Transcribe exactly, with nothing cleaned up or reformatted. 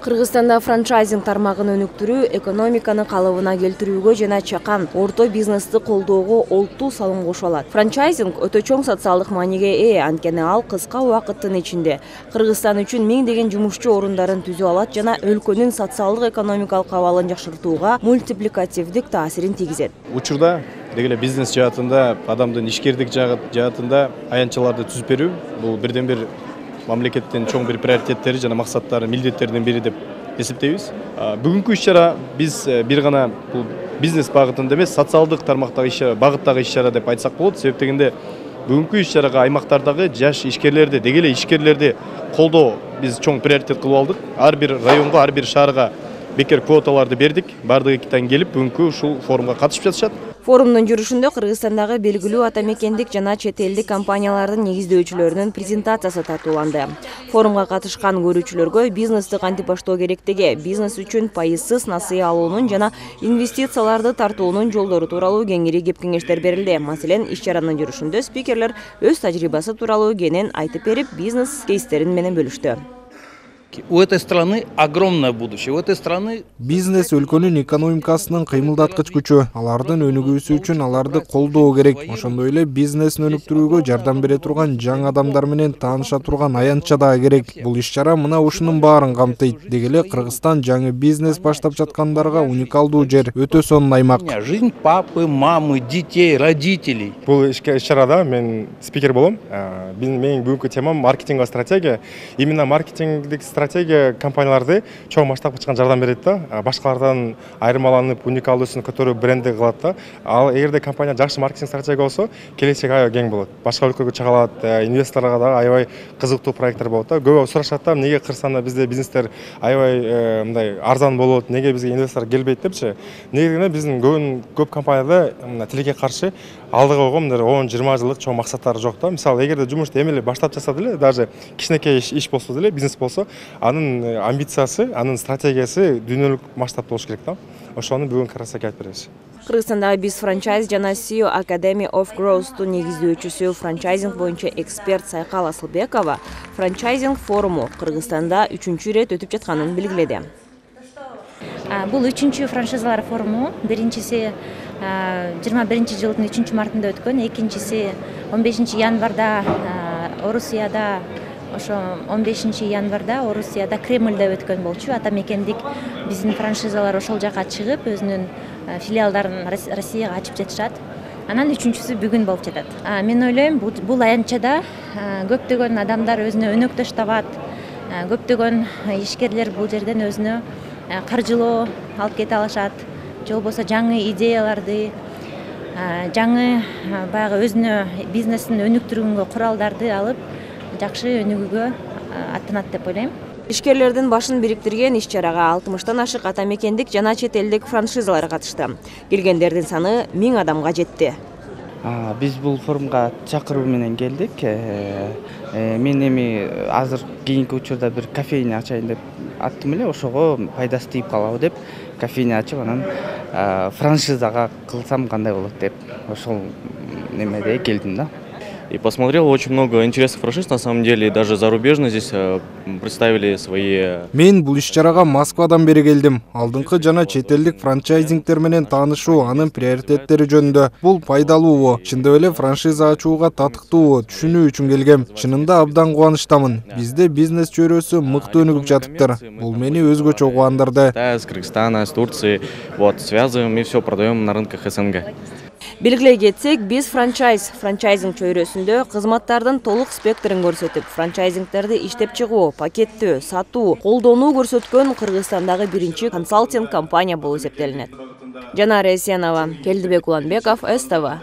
Кыргызстанда франчайзинг тармагын өнүктүрүү экономиканы калыбына келтирүүгө жана чакан орто бизнести колдоого олуттуу салым кошо алат. Франчайзинг өтө чоң социалдык мааниге ээ, анткени ал кыска убакыттын ичинде Кыргызстан үчүн миңдеген жумушчу орундарын түзүп алат жана өлкөнүн социалдык экономикалык абалын жакшыртууга мультипликативдик таасирин тийгизет. Учурда дегеле бизнес жаатында, адамдын ишкердик жаатында аянтчаларды түзүп берүү бул бирден бир мамлекеттин чоң бир приоритеттери жана максаттары, милдеттеринин бири деп эсептейбиз. Бүгүнкү иш-чара биз бир гана бул бизнес багытында эмес, социалдык тармактагы иш-чара, багыттагы иш-чара деп айтсак болот. Себеп дегенде бүгүнкү иш-чарага аймактардагы жаш ишкерлерди, дегеле ишкерлерди колдоо биз чоң приоритет кылып алдык. Ар бир районго, ар бир шаарга бекер квоталарды бердик. Бардыгы келип бүгүнкү ушул форумга катышып жатышат. Форумдун жүрүшүндө Кыргызстандагы белгилүү атамекендик жана чет элдик компаниялардын негиздөөчүлөрүнүн презентациясы тартууланды. Форумга катышкан көрүүчүлөргө бизнести кантип баштоо керектиги, бизнес үчүн пайызсыз насыя алуунун жана инвестицияларды тартуунун жолдору тууралуу кеңири кеп-кеңештер берилди. Маселен, иш-чаранын жүрүшүндө спикерлер өз тажрыйбасы тууралуу кенен айтып берип, бизнес кейстерин менен бөлүштү. У этой страны огромное будущее. У этой страны бизнес өлкөнүн экономикасынын кыймылдаткыч күчү. Алардын өнүгүүсү үчүн аларды колдоо керек. Ошондой эле бизнесин өнүктүрүүгө жардам бере турган жаңы адамдар менен тааныша турган аянтча да керек. Бул иш-чара мына ушунун баарын камтыйт. Дегеле Кыргызстан жаңы бизнес баштап жаткандарга уникалдуу жер, өтө сонун аймак. Жизнь папы, мамы, детей, родителей. Бул иш-чарада мен спикер болом. Менин бүгүнкү темам маркетинговая стратегия. Именно маркетингдик стратегия компанияларды чоң масштабка чыккан жардам берет да, башкалардан айырмаланып, уникалдуусын көтөрүп бренди кылат да. Ал эгерде компания жакшы маркетинг стратегия болсо, келечек аябай кең болот. Башка өлкөгө чыга алат, инвесторлорго да аябай кызыктуу проекттер болот да. Көбү сурашат да, эмнеге Кыргызстанда бизде бизнестер аябай мындай арзан болот, эмнеге бизге инвестор келбейт депчи. Негизинен биздин көп компанияда тилекке каршы алдыга койгон он жыйырма жылдык чоң максаттары жок да. Мисалы, эгерде жумушту эми эле баштап жатса деле, даже кичинекей иш болсо деле, бизнес болсо, анын амбициясы, анын стратегиясы дүйнөлүк масштабта болуш керек да. Ошону бүгүн карасак айтып беребиз. Кыргызстандагы биз франчайз жана си и о Academy of Growth'тун негиздөөчүсү, франчайзинг боюнча эксперт Сайкал Асылбекова франчайзинг форуму Кыргызстанда үчүнчү ирет өтүп жатканын белгиледи. Бул үчүнчү франшизалар форуму. Биринчиси жыйырма биринчи жылдын үчүнчү мартында өткөн, экинчиси он бешинчи январда Орусияда, ошо он бешинчи январда Орусияда Кремльде өткөн болчу. Атамекендик биздин франшизалар ошол жака чыгып, өзүнүн филиалдарын Россияга ачып жатышат. Анан үчүнчүсү бүгүн болуп жатат. Мен ойлойм, бул аянтчада көптөгөн адамдар өзүнө өнөктөш табат. Көптөгөн ишкерлер бул жерден өзүнө каржылоо алып кете алышат. Же болбосо жаңы идеяларды, жаңы баягы өзүнө бизнесин өнүктүрүүгө куралдарды алып, жакшы өнүгүүгө аттанат деп ойлойм. Ишкерлердин башын бириктирген иш-чарага алтымыштан ашык атамекендик жана чет элдик франшизалар катышты. Келгендердин саны миң адамга жетти. Биз бул форумга чакыруу менен келдик. Мен эми азыр кийинки учурда бир кофейня ачайын деп аттым эле, ошого пайдасы тийип калабы деп кофейня ачып, анан франшизага кылсам кандай болот деп ошол немеде келдим да. И посмотрел очень много интересных франшиз, на самом деле, и даже зарубежно здесь представили свои. Мен бул иш-чарага Москвадан бери келдим. Алдыңкы жана чет элдик франчайзингтер менен таанышуу, анын приоритеттери жөнүндө. Бул пайдалуубу, чындап эле франшиза ачууга татыктуубу түшүнүү үчүн келгем. Чынында абдан кубанычтамын. Бизде бизнес чөйрөсү мыкты өнүгүп жатыптыр. Бул мени өзгөчө кубандырды. С Кыргызстана, с Турции, вот связываем и все продаем на рынках СНГ. Белгилей кетсек, биз франчайз, франчайзинг чөйрөсүндө кызматтардын толук спектрин көрсөтүп, франчайзингтерди иштеп чыгуу, пакеттөө, сатуу, колдонуу көрсөткөн Кыргызстандагы биринчи консалтинг компания болуп эсептелинет. Жанара Эсенова, Келдибек Уланбеков, С Т В.